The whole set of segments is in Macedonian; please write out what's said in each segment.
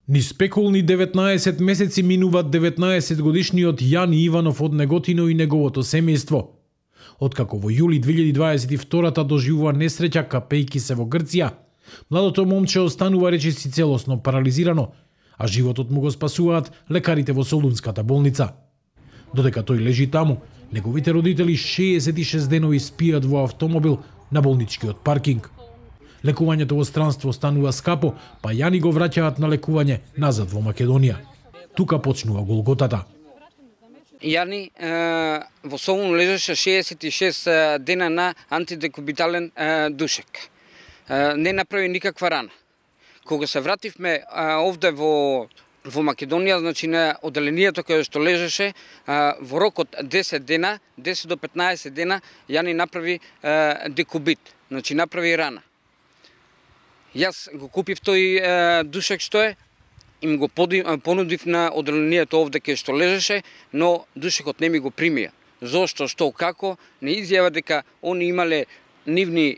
Ни спекулни 19 месеци минуваат 19 годишниот Јани Иванов од Неготино и неговото семејство. Откако во јули 2022 доживува несреќа капејки се во Грција, младото момче останува речиси целосно парализирано, а животот му го спасуваат лекарите во Солунската болница. Додека тој лежи таму, неговите родители 66 денови спијат во автомобил на болничкиот паркинг. Лекувањето во странство станува скапо, па Јани го враќаат на лекување назад во Македонија. Тука почнува голготата. Јани во Солун лежеше 66 дена на антидекубитален душек. Не направи никаква рана. Кога се вративме овде во Македонија, значи на оделението каде што лежеше, во рок од 10 дена, 10 до 15 дена, Јани направи декубит, значи направи рана. Јас го купив тој душек што е, им го понудив на оделението овде каде што лежеше, но душекот не ми го примија. Зошто, што, како, не изјава дека они имале нивни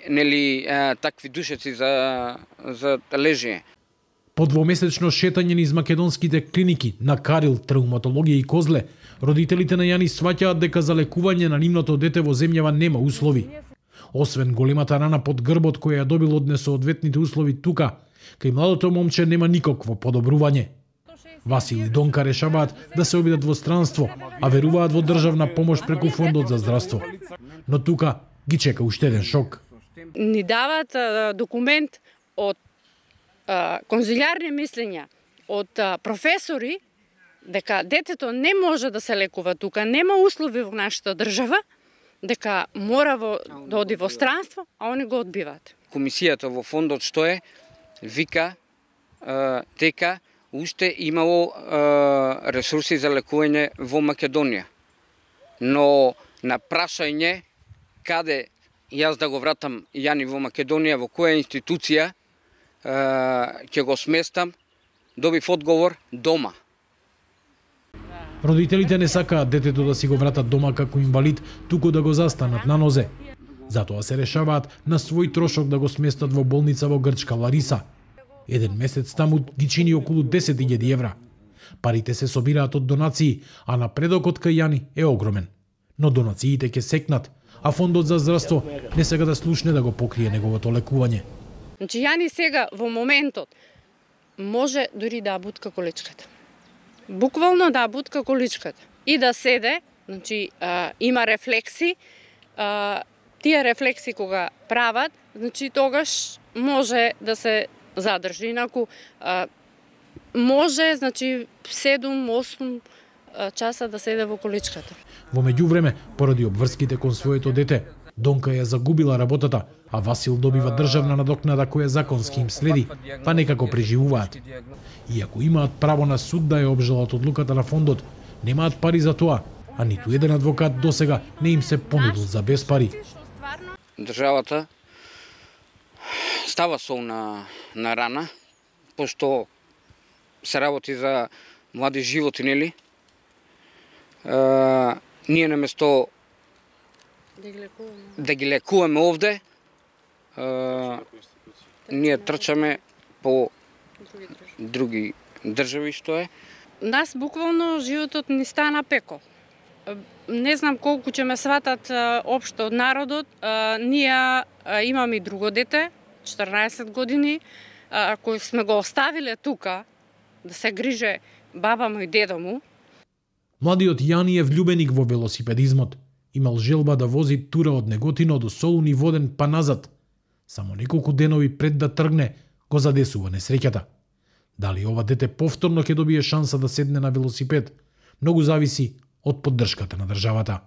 такви душеци за лежење. По двомесечно шетање низ македонските клиники на Карил, травматологија и Козле, родителите на Јани сваќаат дека за лекување на нивното дете во земјава нема услови. Освен големата рана под грбот која ја добил од несоодветните услови тука, кај младото момче нема никакво подобрување. Васил и Донка решаваат да се обидат во странство, а веруваат во државна помош преку Фондот за здравство. Но тука ги чека уште еден шок. Ни дават документ од конзилиарни мислења, од професори, дека детето не може да се лекува тука, нема услови во нашата држава, дека мора да оди во странство, а они го одбиваат. Комисијата во фондот што е, вика дека уште имало ресурси за лекување во Македонија. Но на прашање каде јас да го вратам Јани во Македонија, во која институција ќе го сместам, добив одговор дома. Родителите не сакаат детето да си го вратат дома како инвалид, туку да го застанат на нозе. Затоа се решаваат на свој трошок да го сместат во болница во Грчка Лариса. Еден месец таму ги чини околу 10.000 евра. Парите се собираат од донации, а напредокот кај Јани е огромен. Но донациите ќе секнат, а Фондот за здравство не сега да слушне да го покрие неговото лекување. Значи Јани сега во моментот може дури да бутка количката. Буквално да бутка количката и да седе, значи има рефлекси, тие рефлекси кога прават, значи тогаш може да се задржи, инаку може, значи 7-8 часа да седе во количката. Во меѓувреме, поради обврските кон своето дете, Донка ја загубила работата, а Васил добива државна надокнада која законски им следи, па некако преживуваат. Иако имаат право на суд да ја обжалат одлуката на фондот, немаат пари за тоа, а ниту еден адвокат досега не им се понудил за без пари. Државата става сол на рана, пошто се работи за млади животи, нели? Ние наместо да ги лекуваме овде, ние трчаме по други држави, што е. Нас буквално животот ни стана пеко. Не знам колку ќе ме сватат општо од народот. Ние имаме и друго дете, 14 години, кој сме го оставиле тука да се грижи баба му и дедо му. Младиот Јани е влюбеник во велосипедизмот. Имал желба да вози тура од Неготино до Солун и Воден па назад. Само неколку денови пред да тргне, го задесува несреќата. Дали ова дете повторно ќе добие шанса да седне на велосипед, многу зависи од поддршката на државата.